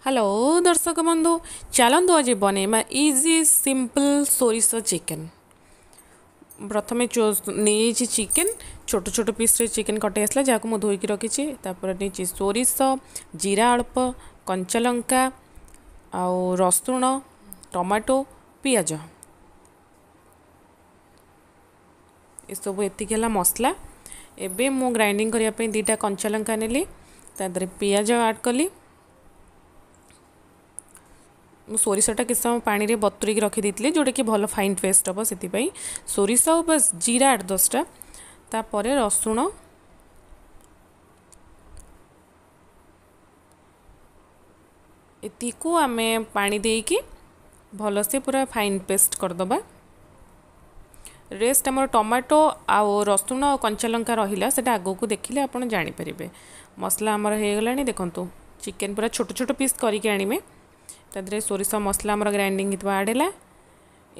Hello ଦର୍ଶକ ବନ୍ଧୁ, ଚାଲନ୍ତୁ ଆଜି ବନେଇବା ଇଜି ସିମ୍ପଲ୍ ସୋରିଷ ଚିକେନ୍। ପ୍ରଥମେ ନେଇଯାଇଛି ଚିକେନ୍, ଛୋଟ ଛୋଟ ପିସ୍ରେ ଚିକେନ୍ କଟାଇ ଆସିଲା, ଯାହାକୁ ମୁଁ ଧୋଇକି ରଖିଛି। ତାପରେ ନେଇଛି ସୋରିଷ, ଜିରା ଅଳ୍ପ, କଞ୍ଚାଲଙ୍କା ଆଉ ରସୁଣ, ଟମାଟୋ, ପିଆଜ, ଏସବୁ ଏତିକି ହେଲା ମସଲା। ଏବେ ମୁଁ ଗ୍ରାଇଣ୍ଡିଙ୍ଗ କରିବା ପାଇଁ 2ଟା କଞ୍ଚାଲଙ୍କା ନେଲି, ତା ଦେହରେ ପିଆଜ ଆଡ଼୍ କଲି। ମୁଁ ସୋରିଷଟା କିଛି ସମୟ ପାଣିରେ ବତୁରେଇକି ରଖିଦେଇଥିଲି, ଯେଉଁଟାକି ଭଲ ଫାଇନ୍ ପେଷ୍ଟ ହେବ, ସେଥିପାଇଁ ସୋରିଷ ଆଉ ବାସ୍ ଜିରା 8-10ଟା। ତାପରେ ରସୁଣ, ଏତିକୁ ଆମେ ପାଣି ଦେଇକି ଭଲସେ ପୁରା ଫାଇନ୍ ପେଷ୍ଟ କରିଦେବା। ରେଷ୍ଟ ଆମର ଟମାଟୋ ଆଉ ରସୁଣ ଆଉ କଞ୍ଚାଲଙ୍କା ରହିଲା, ସେଇଟା ଆଗକୁ ଦେଖିଲେ ଆପଣ ଜାଣିପାରିବେ। ମସଲା ଆମର ହେଇଗଲାଣି। ଦେଖନ୍ତୁ, ଚିକେନ୍ ପୁରା ଛୋଟ ଛୋଟ ପିସ୍ କରିକି ଆଣିବେ। ତା ଦେହରେ ସୋରିଷ ମସଲା ଆମର ଗ୍ରାଇଣ୍ଡିଙ୍ଗ ହେଇଥିବା ଆଡ଼୍ ହେଲା।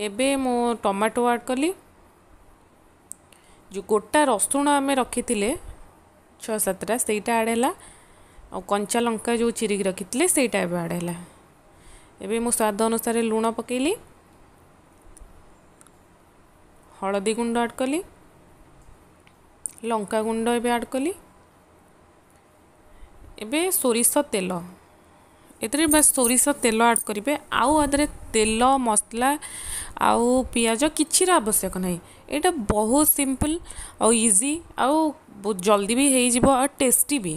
ଏବେ ମୁଁ ଟମାଟୋ ଆଡ଼୍ କଲି। ଯେଉଁ ଗୋଟା ରସୁଣ ଆମେ ରଖିଥିଲେ 6-7ଟା, ସେଇଟା ଆଡ଼୍ ହେଲା। ଆଉ କଞ୍ଚା ଲଙ୍କା ଯେଉଁ ଚିରିକି ରଖିଥିଲେ, ସେଇଟା ଏବେ ଆଡ଼୍ ହେଲା। ଏବେ ମୁଁ ସ୍ୱାଦ ଅନୁସାରେ ଲୁଣ ପକାଇଲି, ହଳଦୀ ଗୁଣ୍ଡ ଆଡ଼୍ କଲି, ଲଙ୍କା ଗୁଣ୍ଡ ଏବେ ଆଡ଼୍ କଲି। ଏବେ ସୋରିଷ ତେଲ, ଏଥିରେ ବାସ୍ ସୋରିଷ ତେଲ ଆଡ଼୍ କରିବେ। ଆଉ ଆଦେହରେ ତେଲ, ମସଲା ଆଉ ପିଆଜ କିଛିର ଆବଶ୍ୟକ ନାହିଁ। ଏଇଟା ବହୁତ ସିମ୍ପଲ୍ ଆଉ ଇଜି, ଆଉ ବହୁତ ଜଲ୍ଦି ବି ହେଇଯିବ ଆଉ ଟେଷ୍ଟି ବି।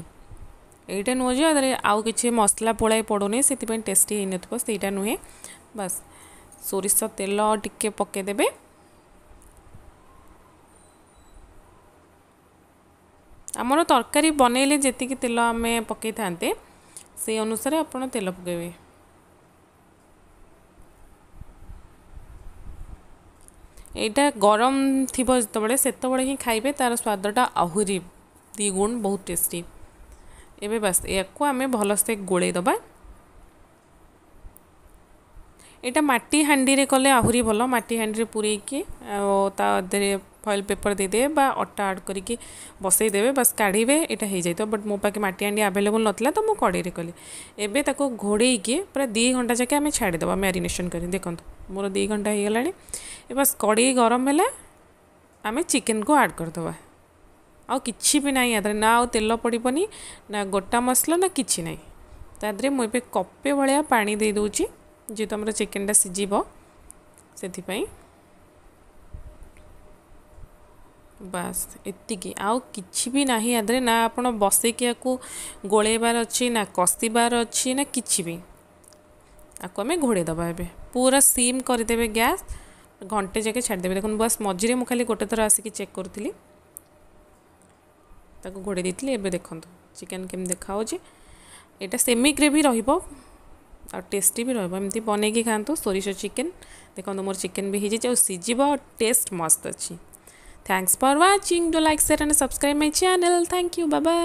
ଏଇଟା ନୁହଁ ଯେ ଆଦେହରେ ଆଉ କିଛି ମସଲା ପୋଳାଇ ପଡ଼ୁନି ସେଥିପାଇଁ ଟେଷ୍ଟି ହେଇନଥିବ, ସେଇଟା ନୁହେଁ। ବାସ୍ ସୋରିଷ ତେଲ ଟିକେ ପକାଇଦେବେ। ଆମର ତରକାରୀ ବନେଇଲେ ଯେତିକି ତେଲ ଆମେ ପକାଇଥାନ୍ତେ, ସେଇ ଅନୁସାରେ ଆପଣ ତେଲ ପକାଇବେ। ଏଇଟା ଗରମ ଥିବ ଯେତେବେଳେ, ସେତେବେଳେ ହିଁ ଖାଇବେ, ତା'ର ସ୍ୱାଦଟା ଆହୁରି ଦ୍ୱିଗୁଣ, ବହୁତ ଟେଷ୍ଟି। ଏବେ ବାସ୍ ଏହାକୁ ଆମେ ଭଲସେ ଗୋଳେଇ ଦେବା। ଏଇଟା ମାଟି ହାଣ୍ଡିରେ କଲେ ଆହୁରି ଭଲ। ମାଟି ହାଣ୍ଡିରେ ପୂରେଇକି ଆଉ ତା ଦେହରେ ଫଏଲ୍ ପେପର୍ ଦେଇଦେବେ ବା ଅଟା ଆଡ଼୍ କରିକି ବସେଇଦେବେ, ବାସ୍ କାଢ଼ିବେ, ଏଇଟା ହେଇଯାଇଥିବ। ବଟ୍ ମୋ ପାଖେ ମାଟି ହାଣ୍ଡି ଆଭେଲେବୁଲ୍ ନଥିଲା, ତ ମୁଁ କଡ଼େଇରେ କଲି। ଏବେ ତାକୁ ଘୋଡ଼େଇକି ପୁରା 2 ଘଣ୍ଟା ଯାକେ ଆମେ ଛାଡ଼ିଦେବା ମ୍ୟାରିନେସନ୍ କରି। ଦେଖନ୍ତୁ, ମୋର 2 ଘଣ୍ଟା ହେଇଗଲାଣି। ଏ ବାସ୍ କଡ଼େଇ ଗରମ ହେଲା, ଆମେ ଚିକେନ୍କୁ ଆଡ଼୍ କରିଦେବା। ଆଉ କିଛି ବି ନାହିଁ ୟା ଦେହରେ, ନା ଆଉ ତେଲ ପଡ଼ିବନି, ନା ଗୋଟା ମସଲା, ନା କିଛି ନାହିଁ। ତା ଦେହରେ ମୁଁ ଏବେ କପେ ଭଳିଆ ପାଣି ଦେଇଦେଉଛି, ଯେହେତୁ ଆମର ଚିକେନ୍ଟା ସିଝିବ ସେଥିପାଇଁ। ବାସ୍ ଏତିକି, ଆଉ କିଛି ବି ନାହିଁ ୟା ଦେହରେ। ନା ଆପଣ ବସେଇକି ୟାକୁ ଗୋଳେଇବାର ଅଛି, ନା କଷିବାର ଅଛି, ନା କିଛି ବି। ଆକୁ ଆମେ ଘୋଡ଼େଇ ଦେବା। ଏବେ ପୁରା ସିମ୍ କରିଦେବେ ଗ୍ୟାସ୍, ଘଣ୍ଟେ ଯାକେ ଛାଡ଼ିଦେବେ। ଦେଖନ୍ତୁ, ବାସ୍ ମଝିରେ ମୁଁ ଖାଲି ଗୋଟେ ଥର ଆସିକି ଚେକ୍ କରୁଥିଲି, ତାକୁ ଘୋଡ଼େଇ ଦେଇଥିଲି। ଏବେ ଦେଖନ୍ତୁ ଚିକେନ୍ କେମିତି ଦେଖାହେଉଛି। ଏଇଟା ସେମି ଗ୍ରେଭି ରହିବ ଆଉ ଟେଷ୍ଟି ବି ରହିବ। ଏମିତି ବନେଇକି ଖାଆନ୍ତୁ ସୋରିଷ ଚିକେନ୍। ଦେଖନ୍ତୁ, ମୋର ଚିକେନ୍ ବି ହେଇଯାଇଛି ଆଉ ସିଝିବ ଆଉ ଟେଷ୍ଟ ମସ୍ତ ଅଛି। Thanks for watching. Do like, share and subscribe my channel. Thank you. Bye bye.